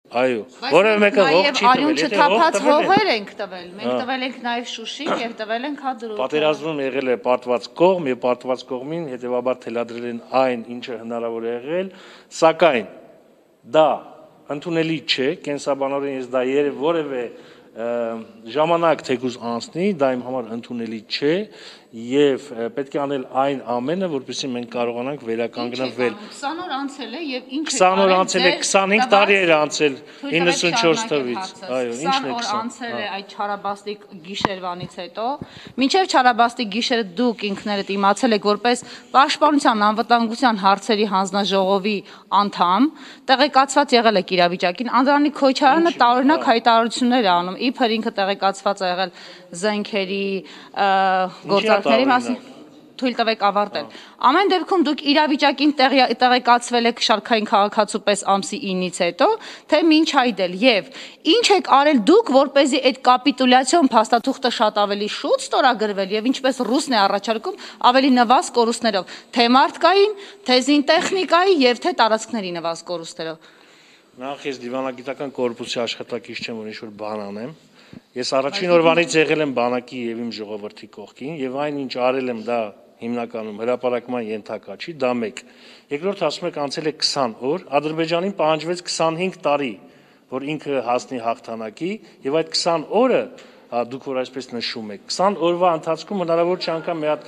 Այո, որևէ մեկը հող չի տվել, արյուն չթափած հողեր ենք տվել, մենք տվել ենք նաև Շուշին եւ տվել ենք Հադրութ։ Պատերազմում եղել է պարտված կողմ եւ պարտված կողմին հետեւաբար թելադրել են այն, ինչը հնարավոր է եղել, սակայն դա ընդունելի չէ, կենսաբանորեն ես դա որևէ ժամանակ թեկուզ անցնի, դա իմ համար ընդունելի չէ եւ պետք է անել այն ամենը, որպեսզի մենք կարողանանք վերականգնվել։ 20 օր անցել է եւ ինչ է 20 օր անցել է, 25 տարի էր անցել 94 թվից։ Այո, ինչն է 20 օր անցել է այդ Չարաբաստիկ գիշերվանից հետո։ Մինչեւ Չարաբաստիկ գիշերը դուք ինքներդ իմացել եք որպես Պաշտպանության անվտանգության հարցերի հանձնաժողովի անդամ, տեղեկացված եղել եք իրավիճակին։ Անդրանիկ Քոչարյանը տարօրինակ հայտարարություններ է անում, իբր ինքը տեղեկացված է եղել զենքերի գործարքների մասին, թույլ տվեք ավարտել։ Ամեն դեպքում դուք իրավիճակին տեղեկացվել եք շարքային քաղաքացու պես ամսի 9-ից հետո, թե մինչ այդ էլ եւ ինչ եք արել դուք, որպեսզի այդ կապիտուլյացիոն փաստաթուղթը շատ ավելի շուտ ստորագրվել եւ ինչպես ռուսն է առաջարկում ավելի նվազ կորուստներով, թե մարդկային, թե զինտեխնիկայի եւ թե տարածքների նվազ կորուստերով։ Նախ ես դիվանագիտական կորպուսի աշխատակից չեմ, որ ինչ-որ բան անեմ։ Ես առաջին օրվանից եղել եմ բանակի եւ իմ ժողովրդի կողքին եւ այն ինչ արել եմ դա հիմնականում հրապարակման ենթակա չի, դա մեկ։ Երկրորդ ասում եք անցել է 20 օր, Ադրբեջանին պահանջվեց 25 տարի, որ ինքը հասնի հաղթանակի եւ այդ 20 օրը դուք որ այսպես նշում եք 20 օրվա ընթացքում հնարավոր չէ անգամ մի հատ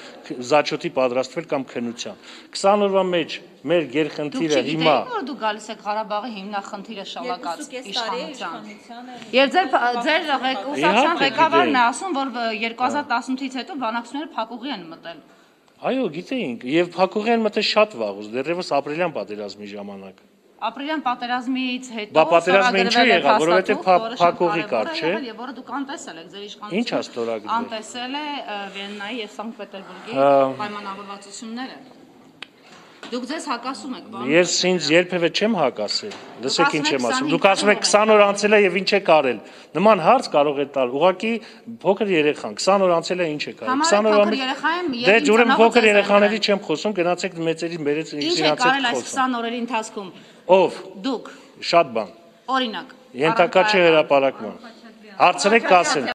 զաչոտի պատրաստվել կամ քննության 20 օրվա մեջ մեր գերխնդիրը հիմա դուք գալիս եք Ղարաբաղի հիմնախնդիրը շալակած իշխանության եւ ձեր ղեկավարության ղեկավարն է ասում որ 2018-ից հետո բանակցությունները փակուղի են մտել այո գիտեինք եւ փակուղի են մտել շատ վաղուց դեռևս ապրիլյան պատերազմի ժամանակ Ապրիլյան պատերազմից հետո Բա պատերազմը ինչու եղավ, որովհետեւ փակուղի կար, չէ։ Եվ որը դուք անտեսել եք, ձեր իշխանությունը։ Ինչ է ստորագրվել։ Անտեսել է Վիեննայի եւ Սանկտ Պետերբուրգի պայմանավորվածությունները։ Դուք ձեզ հակասում եք, բան։ Ես ինձ երբևէ չեմ հակասել։ Լսեք ինչ եմ ասում։ Դուք ասում եք 20 օր անցել է եւ ինչ եք արել։ Նման հարց կարող է տալ։ Ուղղակի փոքր երեխան 20 օր անցել է ինչ եք արել։ 20 օրվա մեջ Դե ուրեմն փոքր երեխաների չեմ խոսում, գնացեք մեծերի մերից ինչ եք արել այս 20 օրերի ընթացքում։ Ով։ Դուք։ Շատ բան։ Օրինակ։ Ենթակա չէ հրապարակման։ Հարցրեք կասեմ։